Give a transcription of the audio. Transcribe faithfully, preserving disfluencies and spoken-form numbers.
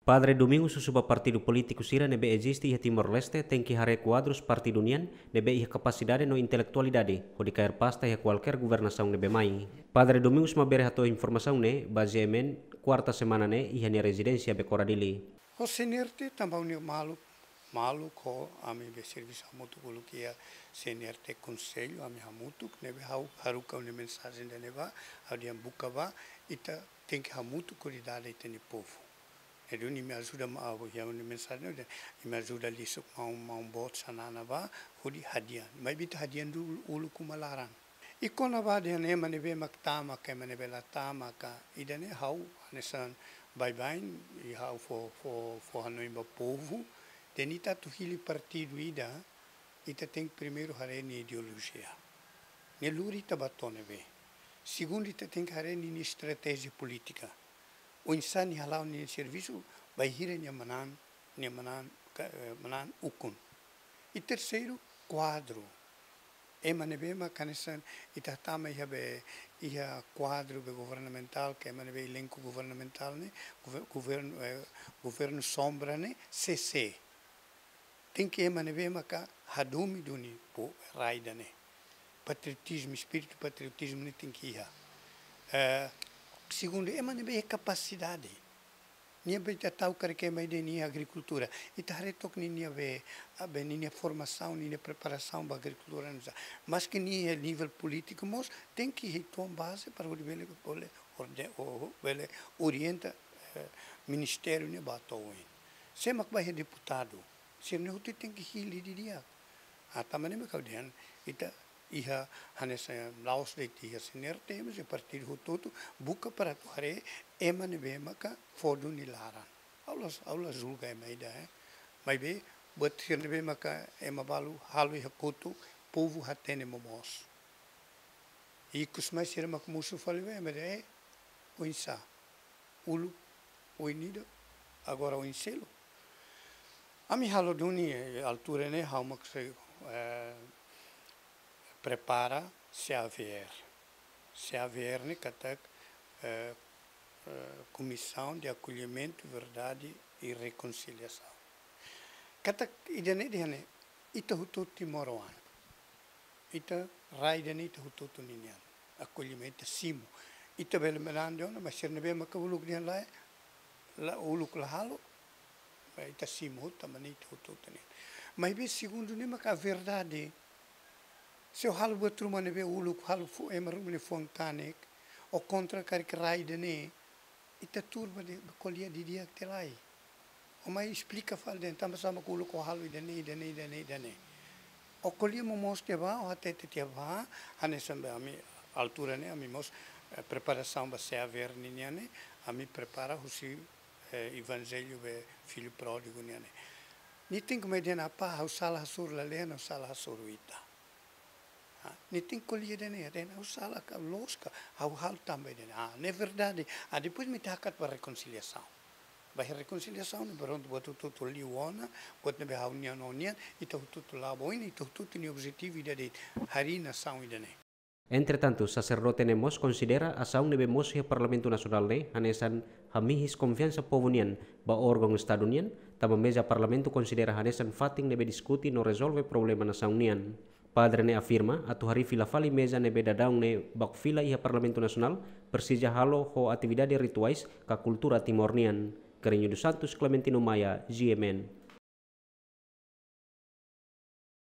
Padre Domingos husu ba partidu polítiku sira ne'ebé eziste iha Timor-Leste tenke haree kuadrus partidu nian ne'ebé iha kapasidade no intelektualidade hodi kaer pasta iha kualkér governasaun ne'ebé mai. Padre Domingos Mabeira hato'o informasaun ne'e ba G M N kuarta semana ne'e iha nia rezidénsia Becora, Dili. Ho CNRT tanba nia maluk, maluk ho ami be servisu hamutuk uluk iha CNRT konsellu, ami hamutuk, ne'ebé ha'u haruka nia mensajen ida-ne'e ba, ha'u dehan buka ba, ita tenke hamutuk hodi dada ita-nia povu. Ne'e duni imi ajuda maun, ha'u iha nia mensajen, imi ajuda lisuk maun, maun boot Xanana ba, hodi hadi'a. Maibé ita hadi'a duni uluk uma laran. I kona-ba dehan ema ne'ebé mak tama ka ema ne'ebé la tama ka, ida-ne'e ha'u hanesan baibain, i ha'u fó, fó, fó hanoin ba povu, dehan ita atu hili partidu ida, ita tenke primeiru haree nia ideolojia. Ne'e lori ita ba to'o ne'ebé. Segundu, ita tenke haree nia, nia estratéjia polítika. Oinsá nia hala'o nia servisu, bainhira nia manán, nia manán, ka, eh, manán ukun. I terseiru, kuadru. Ema ne'ebé mak hanesan ita tama iha be, iha kuadru be governamentál, ka ema ne'ebé elenku governamentál ne'e, gover-, governu, eh, governu sombra ne'e, sé, sé. Tenke ema ne'ebé maka hadomi duni povu rai ida-ne'e. Patriotizmu, espíritu patriotizmu ne'e tenke iha. Eh, segundu, ema ne'ebé iha kapasidade. Nia be ita tau karik ema ida nia agrikultura. Ita haree took ninia be, a be ninia formasaun, ninia preparasaun ba agrikultura ne'e. Maske nia iha nivel polítiku mós, tenke iha uitoan baze para hodi bele, bele orde-, o, bele orienta, eh, ministériu ne'e ba to'o oin. Sé mak ba iha deputadu. Sira-ne'e hotu tenke hili didi'ak. Ah, tanba ne'e mak ha'u dehan, ita iha hanesan la'ós de'it iha CNRT, mas iha partidu hotu-hotu buka para atu haree ema ne'ebé maka fó duni laran. Ha'u la, ha'u la julga ema ida, eh. Maibé, buat sira ne'ebé maka ema balu halo iha kotuk, povu hatene momoos. Ikus mai sira mak mosu fali ba ema ida, eh, oinsá. Uluk oin ida, agora oin seluk. Ami halo duni, eh, altura ne'e, ha'u mak sei, eh, prepara C A V R. C A V R ne'e katak, eh, eh, Comissão de Acolhimento, Verdade e Reconciliação. Katak ida-ne'e dehan ne'e, ita hotu timoroan. Ita rai ida-ne'e ita hotu-hotu ninian. Akollimentu, ita simu. Ita bele manán de'it ona, mas sira ne'ebé maka uluk dehan lae, la uluk la halo, mas ita simu hotu, tanba ne'e ita hotu-hotu nian. Maibé segundu ne'e maka verdade. Se ó halo buat ruma ne'ebé uluk, halo fó, ema ruma ne'e fuan kanek, ó kontra karik rai ida-ne'e, ita tuur ba de'it, ko'alia didi'ak tiha lai. Ó mai esplika fali dehan tanba sá mak uluk ó halo ida-ne'e, ida-ne'e, ida-ne'e, ida-ne'e. Ó ko'alia momoos tiha ba, ó hatete tiha ba, hanesan be ami altura ne'e, ami mós, eh, preparasaun ba C A V R ninian ne'e, ami prepara husi, eh, evanjellu be filho pródigo nian ne'e. Nia tenke mai dehan apá, ha'u sala hasoru lalehan, ha'u sala hasoru ita. Ah, nia tenke ko'alia dehan ne'e, dehan ha'u sala ka loos ka, ha'u halo tanba ida-ne'e. Ah, ne'e verdade. Ah, depois mak ita hakat ba rekonsiliasaun. Ba iha rekonsiliasaun ne'e prontu buat hotu-hotu liu ona, buat ne'ebé ha'u-nian ó-nian, ita hotu-hotu la'o ba oin, ita hotu-hotu nia objetivu ida de'it, harii nasaun ida-ne'e. Entretantu, saserdote ne'e mós konsidera asaun ne'ebé mosu iha Parlamentu Nasionál ne'e hanesan hamihis konfiansa povu nian ba órgaun Estadu nian, tanba meza Parlamentu konsidera hanesan fatin ne'ebé diskute no rezolve problema nasaun nian. Padre ne'e afirma, atu harii fila fali meza ne'ebé daudaun ne'e baku fila iha Parlamentu Nasionál, presiza halo ho atividade rituais ka kultura Timor nian. Carreño dos Santos, Clementino Maia, G M N.